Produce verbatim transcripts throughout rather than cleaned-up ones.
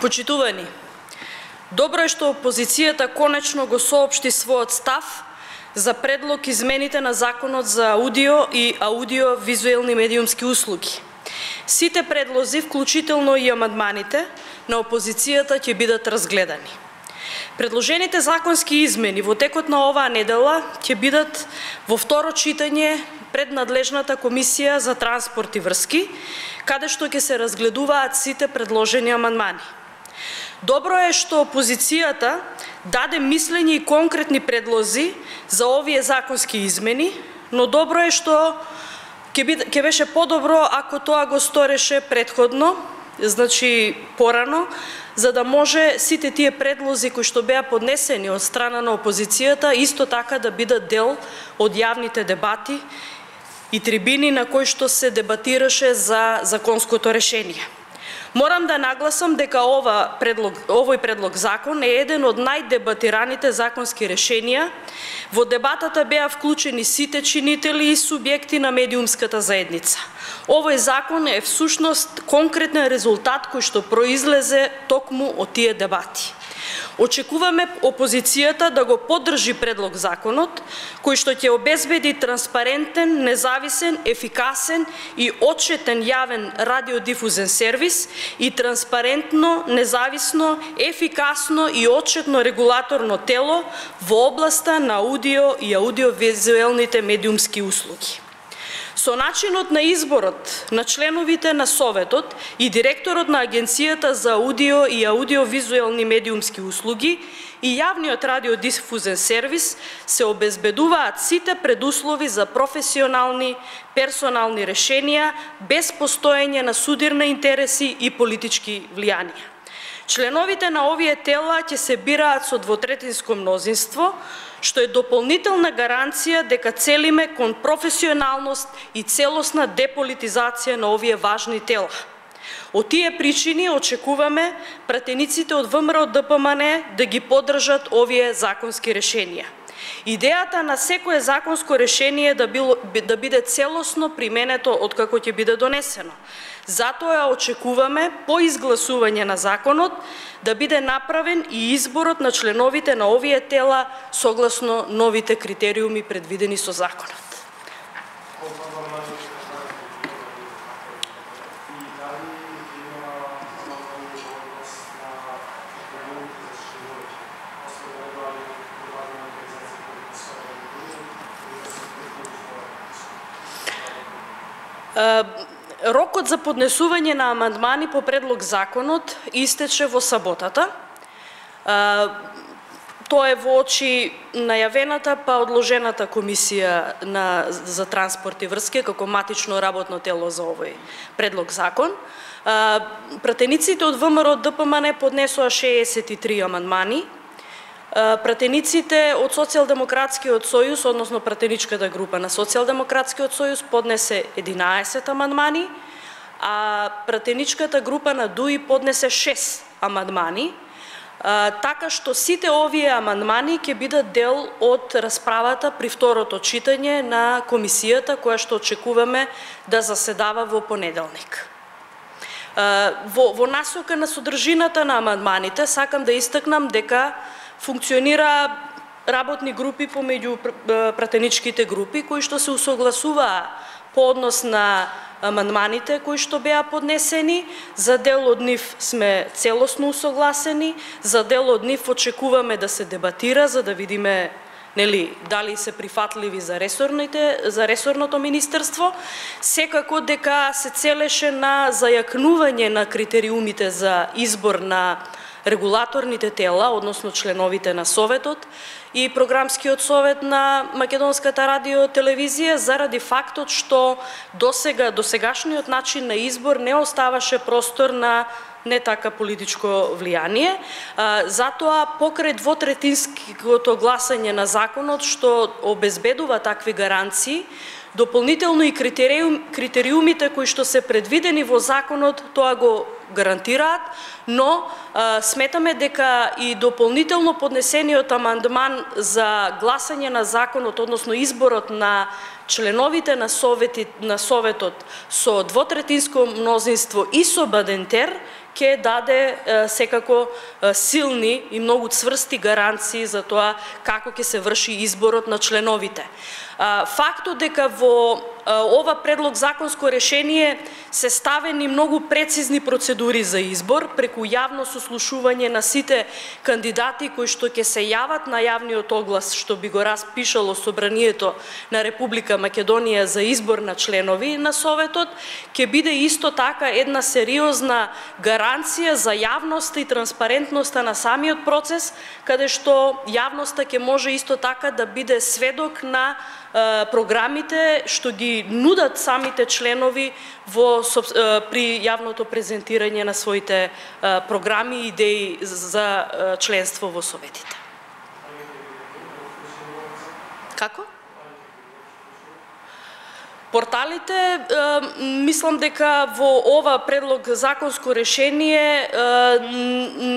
Почитувани, добро е што опозицијата конечно го соопшти својот став за предлог измените на Законот за аудио и аудио-визуелни медиумски услуги. Сите предлози, вклучително и амандманите на опозицијата, ќе бидат разгледани. Предложените законски измени во текот на оваа недела ќе бидат во второ читање пред надлежната комисија за транспорт и врски, каде што ќе се разгледуваат сите предложени амандмани. Добро е што опозицијата даде мислење и конкретни предлози за овие законски измени, но добро е што ќе беше подобро ако тоа го стореше претходно, значи порано, за да може сите тие предлози кои што беа поднесени од страна на опозицијата исто така да бидат дел од јавните дебати и трибини на кои што се дебатираше за законското решение. Морам да нагласам дека ова предлог, овој предлог закон е еден од најдебатираните законски решенија. Во дебатата беа вклучени сите чинители и субјекти на медиумската заедница. Овој закон е всушност конкретен резултат кој што произлезе токму од тие дебати. Очекуваме опозицијата да го поддржи предлог законот, кој што ќе обезбеди транспарентен, независен, ефикасен и отчетен јавен радиодифузен сервис и транспарентно, независно, ефикасно и отчетно регулаторно тело во областа на аудио и аудиовизуелните медиумски услуги. Со начинот на изборот на членовите на Советот и директорот на Агенцијата за аудио и аудиовизуелни медиумски услуги и јавниот радиодифузен сервис се обезбедуваат сите предуслови за професионални, персонални решенија без постоење на судирни интереси и политички влијанија. Членовите на овие тела ќе се бираат со двотретинско мнозинство, што е дополнителна гаранција дека целиме кон професионалност и целосна деполитизација на овие важни тела. Од тие причини очекуваме пратениците од ВМРО Д П М Н да ги поддржат овие законски решенија. Идејата на секое законско решение да, било, да биде целосно применето откако ќе биде донесено. Затоа очекуваме по изгласување на законот да биде направен и изборот на членовите на овие тела согласно новите критериуми предвидени со законот. Рокот за поднесување на амандмани по предлог законот истече во саботата. Тоа е во очи најавената па одложената комисија на, за транспорт и врски како матично работно тело за овој предлог закон. Пратениците од ВМРО Д П М Н поднесоа шеесет и три амандмани. Пратениците од Социјалдемократскиот сојуз, односно пратеничката група на Социјалдемократскиот сојуз поднесе единаесет амандмани, а пратеничката група на Д У И поднесе шест амандмани, така што сите овие амандмани ќе бидат дел од расправата при второто читање на комисијата, која што очекуваме да заседава во понеделник. Во, во насока на содржината на амандманите, сакам да истакнам дека функционира работни групи помеѓу пратеничките групи, кои што се усогласуваа по однос на амандманите кои што беа поднесени. За дел од нив сме целосно усогласени, за дел од нив очекуваме да се дебатира, за да видиме нели дали се прифатливи за ресорните, за ресорното министерство. Секако дека се целеше на зајакнување на критериумите за избор на регулаторните тела, односно членовите на Советот и Програмскиот совет на Македонската радио-телевизија, заради фактот што досега досегашниот начин на избор не оставаше простор на не така политичко влијание. Затоа покрај двотретинското гласање на законот што обезбедува такви гаранции, дополнително и критериум, критериумите кои што се предвидени во законот, тоа го гарантираат, но а, сметаме дека и дополнително поднесениот амандман за гласање на законот, односно изборот на членовите на совети на советот со двотретинско мнозинство и со бадентер ќе даде е, секако е, силни и многу цврсти гаранции за тоа како ќе се врши изборот на членовите. А, фактот дека во а, ова предлог законско решение се ставени многу прецизни процедури за избор преку јавно сослушување на сите кандидати кои што ќе се јават на јавниот оглас што би го распишало Собранието на Република Македонија за избор на членови на Советот, ќе биде исто така една сериозна гаранција за јавноста и транспарентноста на самиот процес, каде што јавноста ќе може исто така да биде сведок на програмите што ги нудат самите членови во при јавното презентирање на своите програми и идеи за членство во советите. Како? Порталите, мислам дека во ова предлог законско решение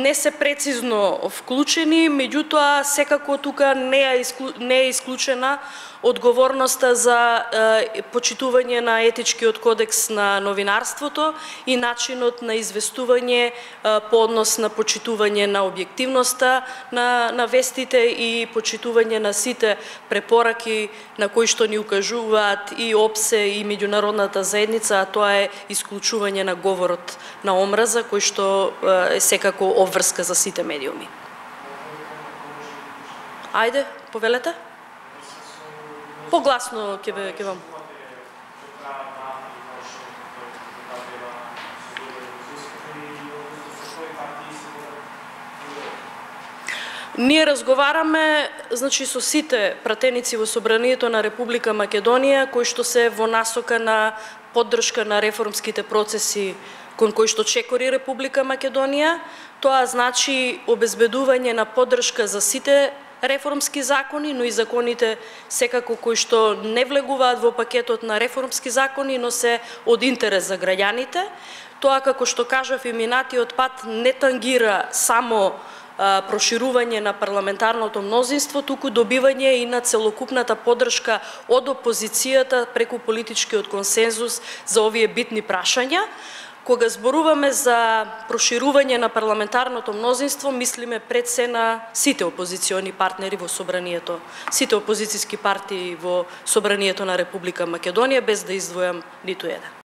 не се прецизно вклучени, меѓутоа секако тука не е, исклу, не е исклучена одговорноста за е, почитување на етичкиот кодекс на новинарството и начинот на известување е, по однос на почитување на објективноста на, на вестите и почитување на сите препораки на кои што ни укажуваат и ОПСЕ и меѓународната заедница, а тоа е исклучување на говорот на омраза, кој што е секако обврска за сите медиуми. Ајде, повелете. Погласно ќе ве ќе вам. Ние разговараме, значи, со сите пратеници во Собранието на Република Македонија кои што се во насока на поддршка на реформските процеси кон кои што чекори Република Македонија. Тоа значи обезбедување на поддршка за сите реформски закони, но и законите секако кои што не влегуваат во пакетот на реформски закони, но се од интерес за граѓаните. Тоа, како што кажав и минатиот пат, не тангира само а, проширување на парламентарното мнозинство, туку добивање и на целокупната поддршка од опозицијата преку политичкиот консензус за овие битни прашања. Кога зборуваме за проширување на парламентарното мнозинство, мислиме пред се на сите опозициони партнери во Собранието, сите опозицијски партии во Собранието на Република Македонија, без да издвојам ниту еден.